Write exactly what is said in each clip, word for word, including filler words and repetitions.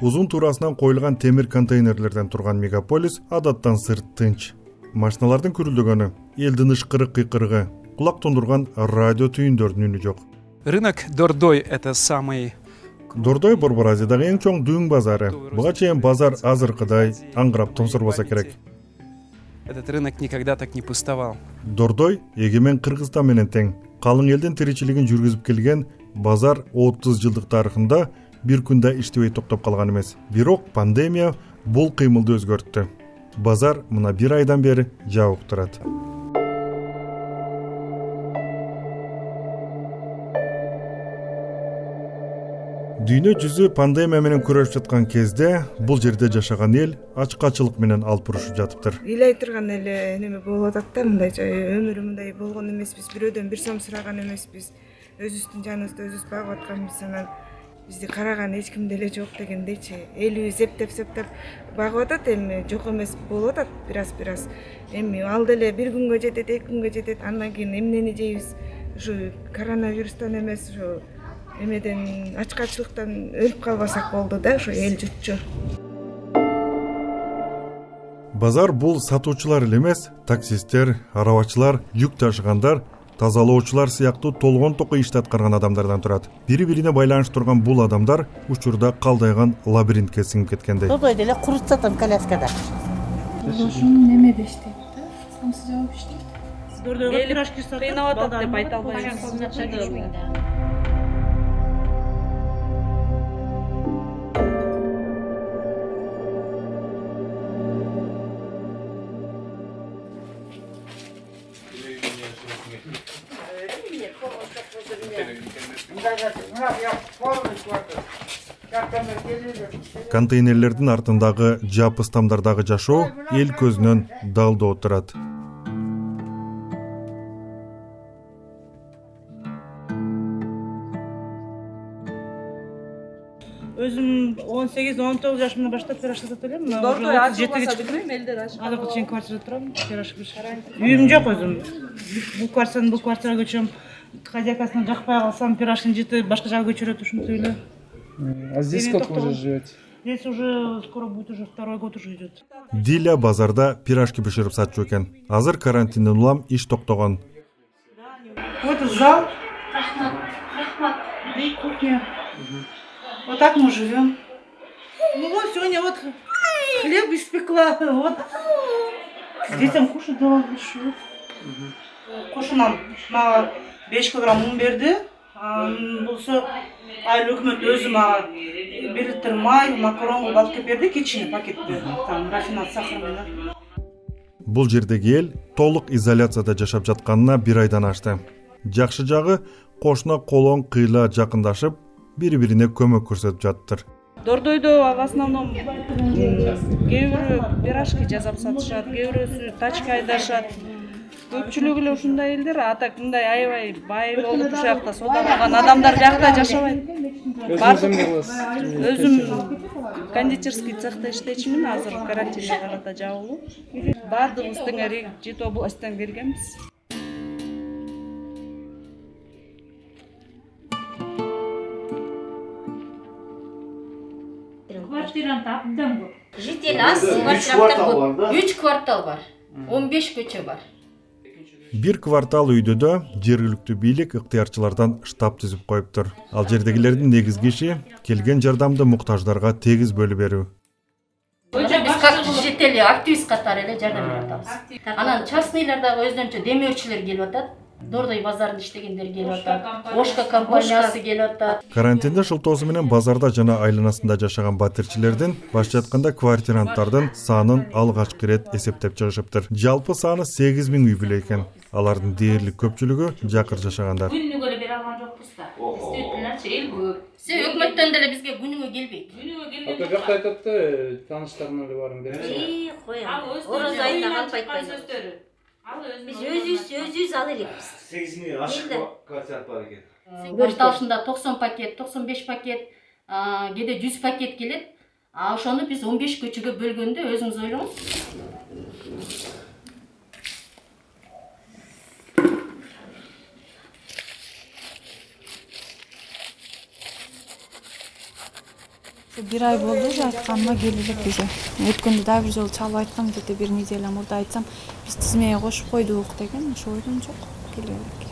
Узун туурасынан коюлган темир контейнерлерден турган мегаполис адаттан сырт тынч. Машиналардын күрүлдөгөнү, элдин ышкырык кыйкырыгы, кулак тундурган радио түйүндөрдүн үнү жок. Рынок Дордой — это самый... Дордой Борбор Азиядагы эң чоң дүүң базары. Буга чейин базар азыркыдай аңгырап томсорбоса керек. Этот рынок никогда так не пустовал. Дордой эгемен Кыргызстан менен тең. Калың элдин тиричилигин жүргүзүп келген базар отуз жылдык тарыхында бир күндө иштебей токтоп калган эмес. Бирок пандемия бул кыймылды өзгөрттү. Базар мына бир айдан бери жабык турат. Дүйнө жүзү пандемия менен күрөшүп жаткан кезде бул жерде жашаган эл ачкачылык менен алпурушуп жатыптыр. Ыйлай турган эле неме болуп атат да, мындай өмүрү мындай болгон эмеспиз, бирөөдөн бир сом сураган эмеспиз. Өзүбүздүн жаныбызды өзүбүз багып атканбыз, анан бизди караган эч ким деле жок дегендейчи. Элибиз эптеп-септеп багып атат, эми жок эмес болуп атат бираз-бираз. Эми ал деле бир күнгө жетет, эки күнгө жетет, андан кийин эмнени жейбиз? Ушу коронавирустан эмес, ушу эмеден ачкачылыктан өлүп калбасак болду да, ушу эл жутчу. Базар бул сатуучулар эле эмес, таксисттер, арабачылар, жүк ташыгандар, тазалоочулар сыяктуу толгон токой ишти аткарган адамдардан турат. Бири-бирине байланыштырган бул адамдар учурда калдайган лабиринтке сиңип кеткендей. Дордой деле курут сатам коляскада. Дошум немеде иштейт да, самсыз жабып иштейт. Дордойго пирожки сатып, кыйнап атат деп айта албайм. Контейнерлердин артындагы жапыс тамдардагы жашоо эл көзүнөн далдоо турат. Өзүм он сегиз он тогуз жашымдан баштап пирожки сатып элем. Дордой ачылбаса билбейм, элдер ачып. Азыркы чейин квартирада турам, пирожки биширем. Үйүм жок өзүм. Бул квартирадан бул квартирага көчөм. Хозяйкасына жакпай калсам, пирожкини жытып башка жака көчүрөт ушинтип эле. А здесь сколько вы уже живете? Здесь уже скоро будет уже второй год уже идет. Диля базарда пирожки биширип сатчу экен. Азыр карантинден улам иш токтогон. Вот зал. И кухня. Вот так мы живем. Ну вот сегодня вот хлеб испекла. Вот. Детям кушать дала большую. Кошунам мага беш килограмм ун берди. Болсо айыл өкмөт өзү мага бир литр май, макарон алып келип берди, кичине пакетте. Там рафинат сахар менен. Бул жердеги эл толук изоляцияда жашап жатканына бир айдан ашты. Жакшы жагы кошуна колон кыйла жакындашып, бири-бирине көмөк көрсөтүп жатыптыр. Дордойдо в основном кээ бирөө пирожки жасап сатышат, кээ бирөөсү тачка айдашат. Көпчүлүгү эле ушундай элдер, а так мындай аябай бай болуп ушул жакта соода кылган адамдар жакта жашабайт. Өзүм кондитерский цехта иштечимин, азыр карантинге карата жабылуу. Баардыгыбыз теңери жети областтан келгенбиз. Квартираны таптым бу. Житель аз квартиралар бар. үч квартал бар. он беш көчө бар. Бир квартал үйдөдө жергиликтүү бийлик ыктыярчылардан штаб түзүп коюптур. Ал жердегилердин негизги иши келген жардамды муктаждарга тегиз бөлүп берүү. Биз как жители активист катары эле жардам берип атабыз. Анан частныйлар дагы өздөрүнчө демөөрчүлөр келип атат. Дордой базарында иштегендер келип атат. Ошка компаниясы келип атат. Карантинде шылтоосу менен базарда жана айланасында жашаган батирчилердин башчы айтканда квартиранттардын санын алгачкы ирет эсептеп чыгышыптыр. Жалпы саны сегиз миң үй бүлө экен. Алардын дээрлик көпчүлүгү жакыр жашагандар. Күнүгө эле бере алган жокпуз да. Действительно, эл көп. Се өкмөттөн деле бизге күнүгө келбейт. Күнүгө келбейт. Ата жакта айтат да, тааныштарына эле барып берет. И, коя. Ороз айында калп айтпайсыздар. Биз өзүбүз өзүбүз ала элекпиз. сегиз миң ашык квартира бар экен. Кварталында токсон пакет, токсон беш пакет, кээде жүз пакет келет. А ошону биз он беш көчөгө бөлгөндө өзүңүз ойлоңуз. бир ай болду уже айтканыма келе элек уже. Өткөндө дагы бир жолу чалып айткам, где-то бир неделя мурда айтсам, биз тизмеге кошуп койдук деген, ошо ойдон жок келе элек.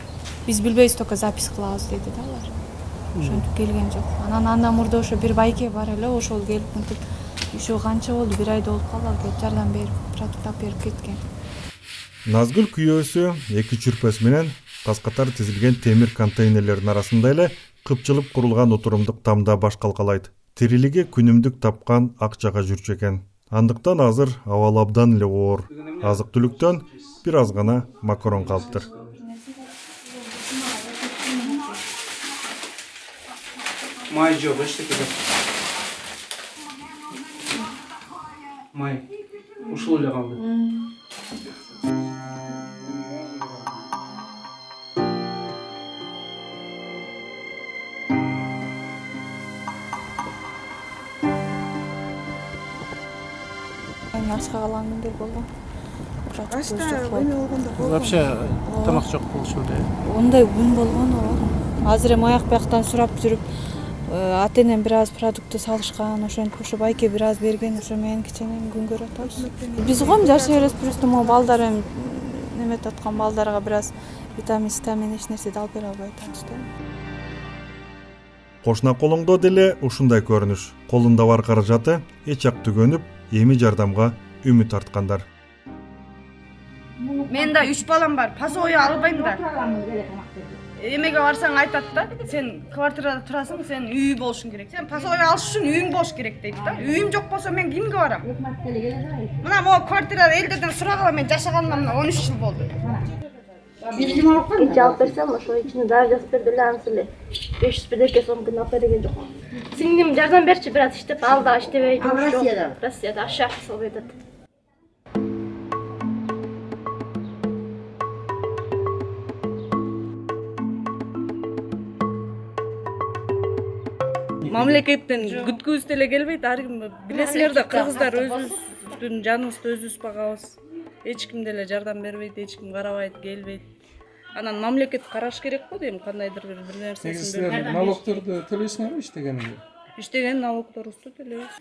Биз билбейбиз, только запись кылабыз деди да алар. Ошентип келген жок. Анан андан мурда ошо бир байке бар эле, ошол келип мынтип ушу канча болду, бир айда болуп калды, ал келип жардам берип, продукт алып берип кеткен. Назгүл күйөөсү эки чүрпөс менен каз-катар тизилген темир контейнерлердин арасында эле кыпчылып курулган отурумдук тамда баш калкалайт. Тирилиги күнүмдүк тапкан акчага жүрчү экен. Андыктан азыр абалы абдан эле оор. Азык-түлүктөн бир аз гана макарон калыптыр. Май жок, эчтеке жок. Май ушул эле калды. Ачка калган күндөр болду. Вообще тамак жок болушу эле. Ондай күн болгон ооба. Азыр эми аяк бияктан сурап жүрүп, ата-энем бир аз продуктты салышкан, ошентип ошо байке бир аз берген, ошо менен кичине күн көрүп атабыз. Биз гом жашай беребиз, просто могу балдар эми неметип аткан балдарга бир аз витамин, витамин эч нерсе алып бере албай атабыз да. Кошуна колуңдо деле ушундай көрүнүш. Колунда бар каражаты эч жак түгөнүп, эми жардамга үмүт арткандар. Мен да үч балам бар. Пасой албайм да. Эмеге барсаң айтат да, сен квартирада турасың, сен үй болушуң керек. Сен пасой алыш үчүн үйүң болуш керек дейт да. Үйүм жок болсо мен кимге барам? Мына могу квартирада элдерден сурагыла, мен жашаганыма мына он үч жыл болду. Ич алып берсем, ошо ичине дары жазып берди эле, анысы эле беш жүз бирдеке сомдон алып берген жок. Сиңдим жардам берчи, бир аз иштеп, ал да иштебей жумуш жок. Россияда аш салып атат. Мамлекеттен күткүбүз деле келбейт. Ар ким билесиңер да, кыргыздар өзүбүздүн жаныбызды өзүбүз багабыз. Эч ким деле жардам бербейт, эч ким карабайт, келбейт. Анан мамлекет караш керек го дейм, кандайдыр бир бир нерсесин берип. Налогторду төлөйсүңөрбү иштегениңде? Иштеген налогторубузду төлөйбүз.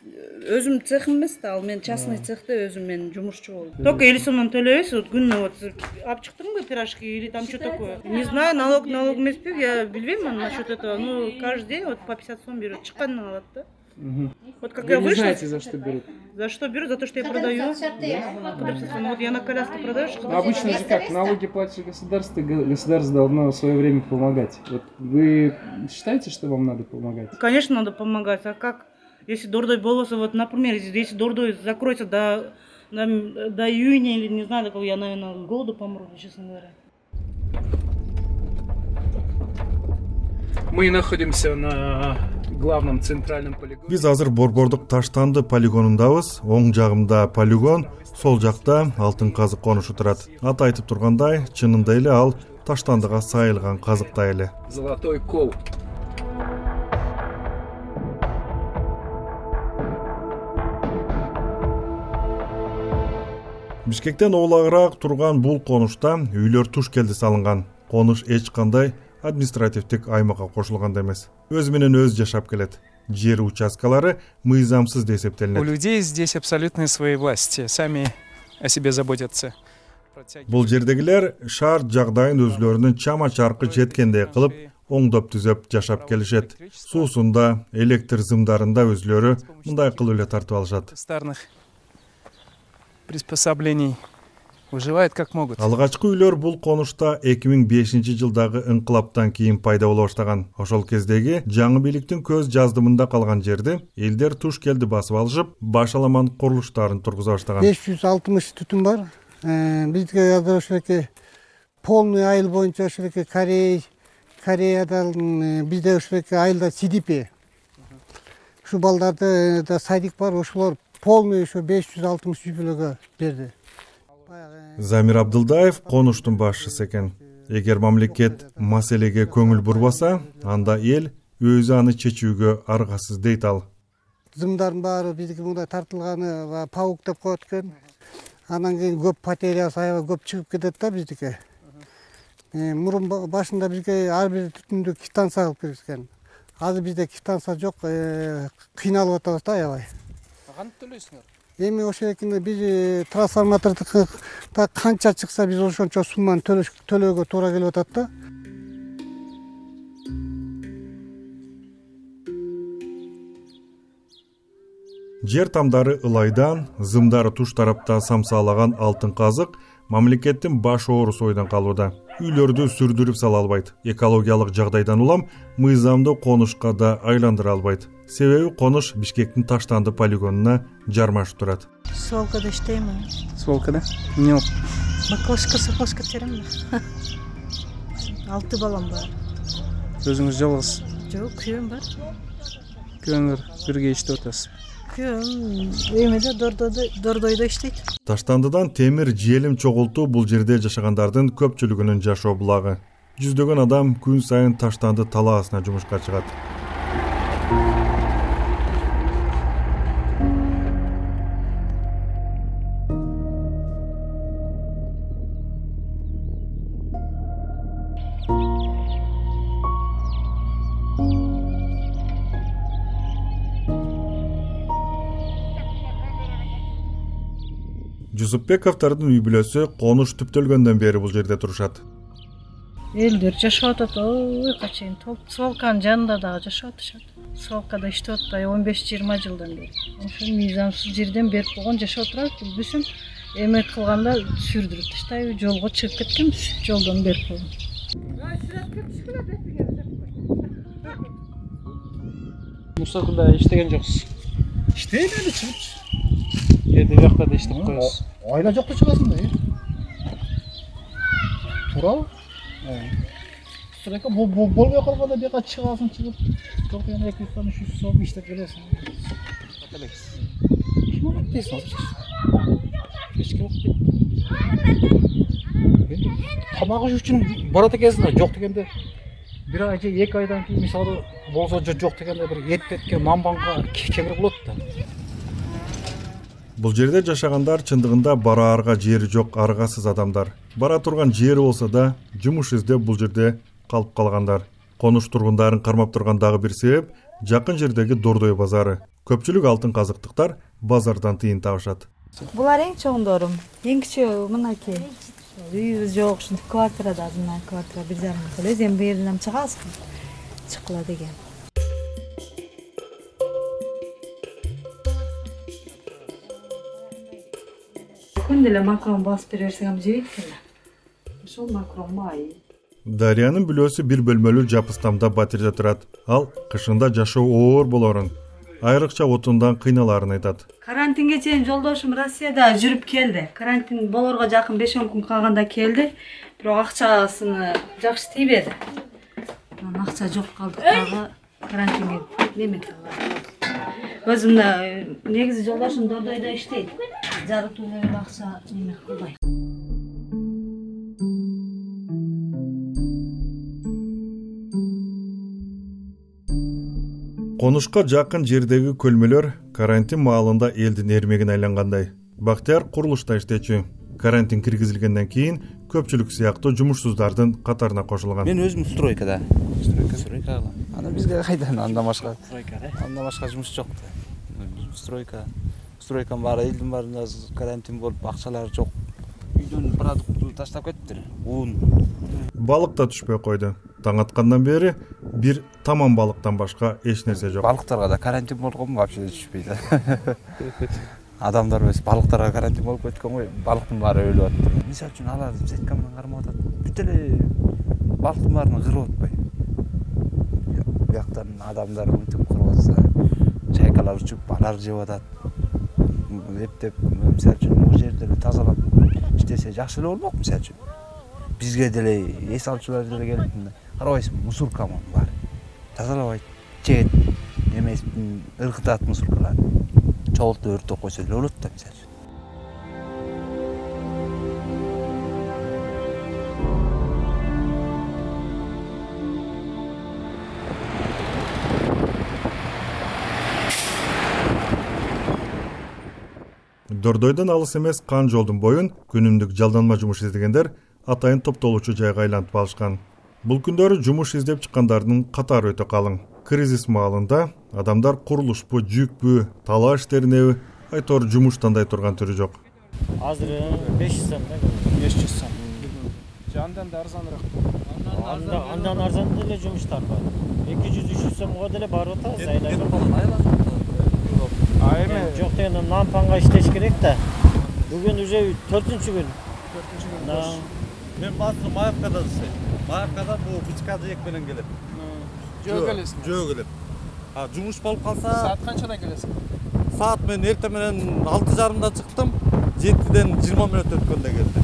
Өзүм цехим эмес да, ал мен частный цехте өзүм мен жумушчу болдум. Только элүү сомдон төлөйбүз, вот күнүнө вот алып чыктыңбы пирожки или там что такое? Не знаю, налог налог эмеспи, я билбейм насчет этого. Ну, каждый день вот по пятьдесят сом берет, чыккандан алат да. Вот как Вы я не вышла. знаете, за что берут? За что берут? За то, что я продаю. Ну, вот я на коляске продаю. Ну, обычно же как, налоги платит государство, государство должно в свое время помогать. Вот вы считаете, что вам надо помогать? Конечно, надо помогать. А как, если Дордой болоса, вот, например, если Дордой закроется до, до, до июня или не знаю, до кого, я, наверное, с голоду помру, честно говоря. Мы находимся на главном центральном полигоне. Биз азыр Борбордук Таштанды полигонундабыз. Оң жагымда полигон, сол жакта алтын казык конушу турат. Аты айтып тургандай, чынында эле ал Таштандыга сайылган казыктай эле. Золотой кол. Бишкектен оолагыраак турган бул конушта үйлөр туш келди салынган. Конуш эч кандай административдик аймакка кошулган эмес. Өз менен өзү жашап келет. Жер участкалары мыйзамсыз деп эсептелинет. У людей здесь абсолютная своевластие, сами о себе заботятся. Бул жердегилер шаар жагдайын өзлөрүнүн чама чаркы жеткендей кылып оңдоп түзөп жашап келишет. Суусунда, электр зымдарында өзлөрү мындай кылып эле тартып алышат. Старных приспособлений выживают как могут. Алгачкы үйлөр бул конушта эки миң бешинчи жылдагы инкылаптан кийин пайда боло баштаган. Ошол кездеги жаңы бийликтин көз жаздымында калган жерди элдер туш келди басып алышып, баш аламан курулуштарын тургуза баштаган. беш жүз алтымыш түтүн бар. Бизге азыр ошоке полный айыл боюнча ошоке Корей, Кореядан бизде ошоке айылда Сидипи. Ушу балдарды да садик бар, ошолор полный ошо беш жүз алтымыш үй бүлөгө берди. Замир Абдылдаев конуштун башчысы экен. Эгер мамлекет маселеге көңүл бурбаса, анда эл өзү аны чечүүгө аргасыз дейт ал. Зымдардын баары бизге мындай тартылганы паук деп коет экен. Анан кийин көп потерясы аябай көп чыгып кетет да биздики. Мурун башында бизге ар бир түтүндү квитанция кылып беришкен. азыр бизде квитанция жок, кыйналып атабыз да аябай. Кантип төлөйсүңөр? Эми ошол экинде биз трансформаторду канча чыкса биз ошончо сумманы төлөөгө туура келип атат да. Жер тамдары ылайдан, зымдары туш тарапта самсаалаган алтын казык мамлекеттин баш оорусу ойдон калууда. Үйлөрдү сүрдүрүп сала албайт. Экологиялык жагдайдан улам мыйзамды конушка да айландыра албайт. Себеби конуш Бишкектин Таштанды полигонуна жармашып турат. Свалкада иштеймин. Свалкада? Эмне болуп? Бакалашка сапашка теремин. Алты балам бар. Өзүңүз жалгыз? Жок, күйөөм бар. Күйөөңөр бирге иштеп атасыз? Күйөөм эмеде Дордойдо Дордойдо иштейт. Таштандыдан темир желим чогултуу бул жерде жашагандардын көпчүлүгүнүн жашоо булагы. Жүздөгөн адам күн сайын Таштанды талаасына жумушка чыгат. Жусупбековдордун үй бүлөсү конуш түптөлгөндөн бери бул жерде турушат. Элдер жашап атат, ой качайын. Свалканын жанында дагы жашап атышат. Свалкада иштеп атпай он беш жыйырма жылдан бери. Ошол мыйзамсыз жерден берип койгон жашап турат. Билбесем, эмек кылганда сүрдүрүп таштайбы, жолго чыгып кеткенбиз. Жолдон берип койгон. Мусоркада иштеген жоксуз? Иштейм эле чыгып. Эди бияка да иштеп коесуз. Айла жокто чыгасың да. Туурабы? Сырека болбой калганда бияка чыгасың, чыгып, жок эми эки жүз сом, үч жүз сом иштеп келесиң. Каталексиз. Ким болот дейсиң азыр? Кечке болуп кетти. Тамак иш үчүн барат экенсиң да, жок дегенде бир ай же эки айдан кийин мисалы болсо жок дегенде бир эт-этке мамбанга кемир болот да. Бул жерде жашагандар чындыгында бараарга жери жок аргасыз адамдар. Бара турган жери болсо да жумуш издеп бул жерде калып калгандар. Конуш тургундарын кармап турган дагы бир себеп жакын жердеги Дордой базары. Көпчүлүк алтын казыктыктар базардан тыйын табышат. Булар эң чоңдорум, эң кичөө мынакей. Үйүбүз жок, ушинтип квартирада азыр квартира бир жарым эле. Эми бу жерден чыгасызбы? Чыккыла деген. Күн деле макрон басып бере берсең жейт экен. Ошол макрон бай. Дариянын бүлөсү бир бөлмөлүү жапыстамда батирде турат. Ал кышында жашоо оор болорун, айрыкча отундан кыйналарын айтат. Карантинге чейин жолдошум Россияда жүрүп келди. Карантин болорго жакын беш он күн калганда келди. Бирок акчасыны жакшы тийбеди. Анан акча жок калды дагы карантинге неме кылды. Өзүм да негизи жолдошум Дордойдо иштейт. Жарыктуу эле акча неме кылбайт. Конушка жакын жердеги көлмөлөр карантин маалында элдин эрмегине айлангандай. Бактияр курулушта иштечү. Карантин киргизилгенден кийин көпчүлүк сыяктуу жумушсуздардын катарына кошулган. Мен өзүм стройкада. Стройка, стройка кылам. Ана бизге кайдан андан башка? Стройка, да? Андан башка жумуш жок да. Стройка. Стройканын баары элдин баарында карантин болуп, акчалары жок. Үйдөн продуктту таштап кеттир. Un. Балык да түшпөй койду. Таң аткандан бери бир таман балыктан башка эч нерсе жок. Балыктарга да карантин болгонму вообще түшпөйт. Адамдар эмес, балыктарга карантин болуп кеткен гой. Балыктын баары өлүп атты. Мисалы үчүн алар сетка менен кармап атат. Бүт эле балыктын баарын кырып атпайбы? Бияктан адамдар мынтип кырып атса, чайкалар учуп, балар жеп атат. Эптеп, мисалы үчүн бул жерде тазалап иштесе жакшы эле болмок, мисалы үчүн. Бизге деле эс алчулар деле келип, карабайсыңбы, мусоркамы бар. Тазалабайт, жет, эмес ыргытат мусоркалар. Чогултуп өртөп койсо эле болот да, мисалы үчүн. Дордойдон алыс эмес Кан жолдун боюн күнүмдүк жалданма жумуш издегендер атайын топтолуучу жайга айлантып алышкан. Бул күндөрү жумуш издеп чыккандардын катары өтө калың. кризис маалында адамдар курулушпу, жүкпү, талаа иштеринеби айтор жумуш тандай турган түрү жок. Азыр беш жүз сом да. беш жүз сом. Андан да арзаныраак. Андан арзан деле жумуштар бар. эки жүз үч жүз сомго деле барып атабыз айлай. А эми жок дегенде нампанга иштеш керек да. Бүгүн уже төртүнчү күн. төртүнчү күн. Мен базыр Маевкада иштейм. Маевкада бул бычкады ек менен келет. Жөө келесиң. Жөө келет. А жумуш болуп калса, саат канчада келесиң? Саат мен эрте менен алты жарымда чыктым, жетиден жыйырма мүнөт өткөндө келдим.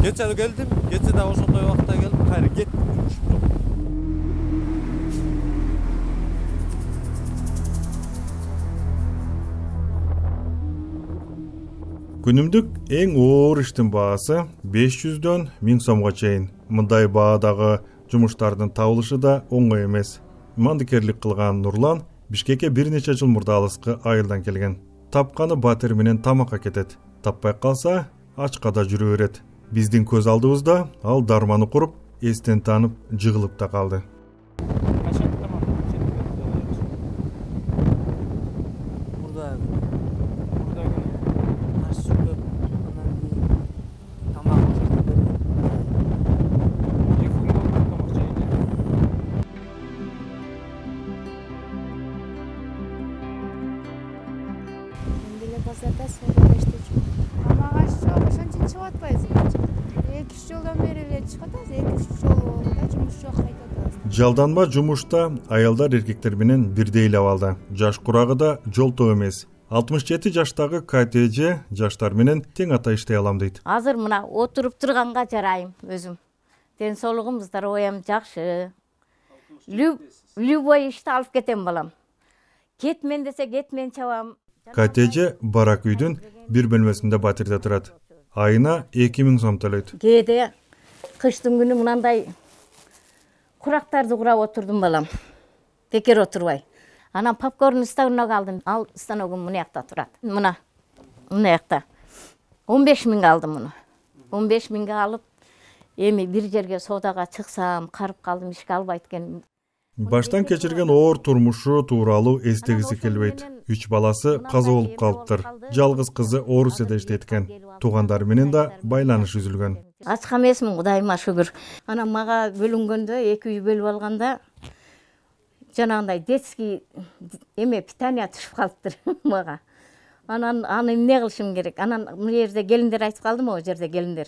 Кече келдим, кече да ошондой убакта келдим, кайра кеттим, жумушум жок. Күнүмдүк эң оор иштин баасы беш жүздөн миң сомго чейин. Мындай баадагы жумуштардын табылышы да оңой эмес. Мандикерлик кылган Нурлан Бишкекке бир нече жыл мурда алыскы айылдан келген. Тапканы батир менен тамакка кетет. Таппай калса ачка да жүрө берет. Биздин көз алдыбызда ал дарманы куруп, эстен таанып, жыгылып да калды. Базарда саудада иштечүмүн. Тамак аш жок, ошон үчүн чыгып атпайбыз. эки үч жылдан бери эле чыгып атабыз, эки үч жолу да жумуш жок кайтабыз. Жалданма жумушта аялдар эркектер менен бирдей эле абалда. Жаш курагы да жолтоо эмес. алтымыш жети жаштагы КТЖ жаштар менен тең ата иштей алам дейт. Азыр мына отуруп турганга жарайм өзүм. Ден соолугум, здоровьям жакшы. Любой ишти алып кетем балам. Кетмен десе кетмен чабам. КТЖ барак үйдүн бир бөлмөсүндө батирде турат. Айына эки миң сом төлөйт. Кээде кыштын күнү мынандай курактарды курап отурдум балам. Бекер отурбай. Анан попкорн станок алдым. Ал станогум мына жакта турат. Мына. Мына жакта. он беш миңге алдым муну. он беш миңге алып, эми бир жерге соодага чыксам, карып калдым, ишке албайт экен. Баштан кечирген оор турмушу тууралуу эстегиси келбейт. Үч баласы каза болуп калыптыр. Жалгыз кызы Орусияда иштейт экен. Туугандары менен да байланыш үзүлгөн. Ачка эмесмин, Кудайыма шүгүр. Анан мага бөлүнгөндө, эки үй бөлүп алганда жанагындай детский эме питание түшүп калыптыр мага. Анан аны эмне кылышым керек? Анан бул жерде келиндер айтып калдым, о жерде келиндер.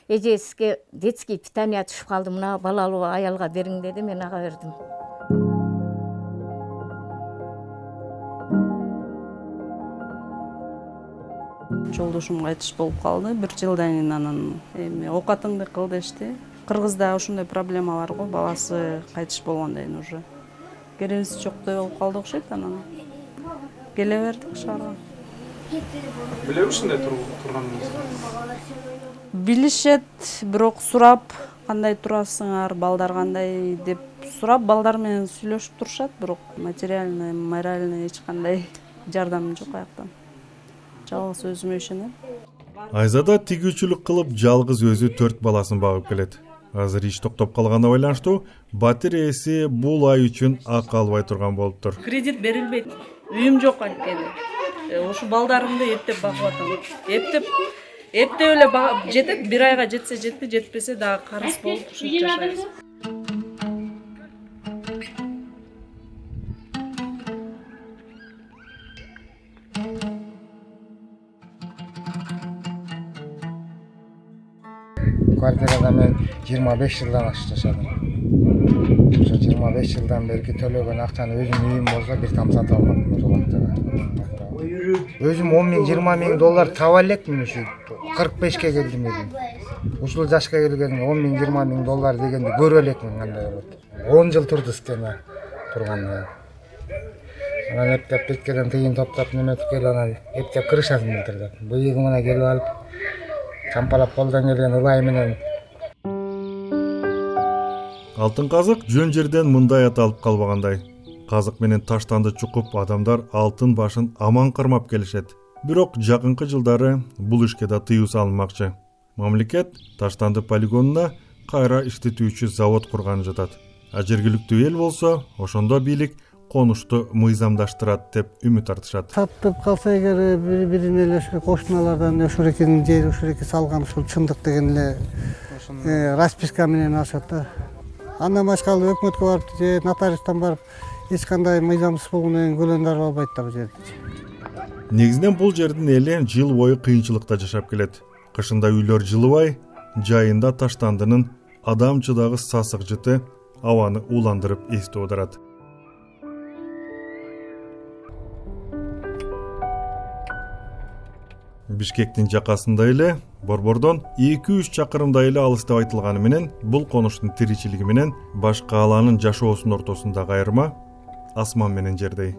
Эже сизге детский питание түшүп калды, мына балалуу аялга бериң деди, мен ага бердим. Жолдошум кайтыш болуп калды. бир жылдан кийин анан эми оокатыңды кыл дешти. Кыргызда ошондой проблема бар го, баласы кайтыш болгондон кийин уже. Керебиз жоктой болуп калды окшойт, анан келе бердик шаарга. Билеби ушундай турганыңызды? Билишет, бирок сурап, кандай турасыңар, балдар кандай деп сурап, балдар менен сүйлөшүп турушат, бирок материальный, моральный эч кандай жардам жок аяктан. Жалгыз өзүмө ишенем. Айзада тигүүчүлүк кылып, жалгыз өзү төрт баласын багып келет. Азыр иш токтоп калганына байланыштуу батир ээси бул ай үчүн акы албай турган болуптур. Кредит берилбейт. Үйүм жок анткени. Ошо балдарымды эптеп багып атам. Эптеп эптеп эле жетет, бир айга жетсе жетти, жетпесе дагы карыз болуп ушинтип жашайбыз. Квартирада мен жыйырма беш жылдан ашык жашадым. Ошо жыйырма беш жылдан берки төлөгөн акчаны өзүм үйүм болсо бир там сатып алмадым ошол убактага. Өзүм он миң, жыйырма миң доллар таба элекмин ушу кырк бешке келдим эле. Ушул жашка келгенде он миң, жыйырма миң доллар дегенди көрө элекмин кандай болот. он жыл турду стена турганда. Анан эптеп беткеден тыйын топтоп неметип келип анан эптеп крышасын билдирди. Быйыгы мына келип алып чампалап колдон келген ылай менен. Алтын казык жөн жерден мындай аталып калбагандай. Казык менен таштанды чукуп адамдар алтын башын аман кармап келишет. Бирок жакынкы жылдары бул ишке да тыюу салынмакчы. Мамлекет таштанды полигонуна кайра иштетүүчү завод курганы жатат. А жергиликтүү эл болсо ошондо бийлик конушту мыйзамдаштырат деп үмүт артышат. Сатып калса эгер бири бирине эле ошо кошуналардан ошол экенин жери ошол эке салган ушул чындык деген эле расписка менен алышат да. Андан башка өкмөткө барып же нотариустан барып эч кандай мыйзамсыз болгондон кийин көлөндө албайт да бул жерде. Негизинен бул жердин эли жыл бою кыйынчылыкта жашап келет. Кышында үйлөр жылыбай, жайында таштандынын адамчыдагы сасык жыты абаны ууландырып эсти оодарат. Бишкектин жакасында эле, Борбордон эки үч чакырымдай эле алыс деп айтылганы менен, бул конуштун тиричилиги менен башка кааланын жашоосунун ортосундагы айырма асман менен жердей.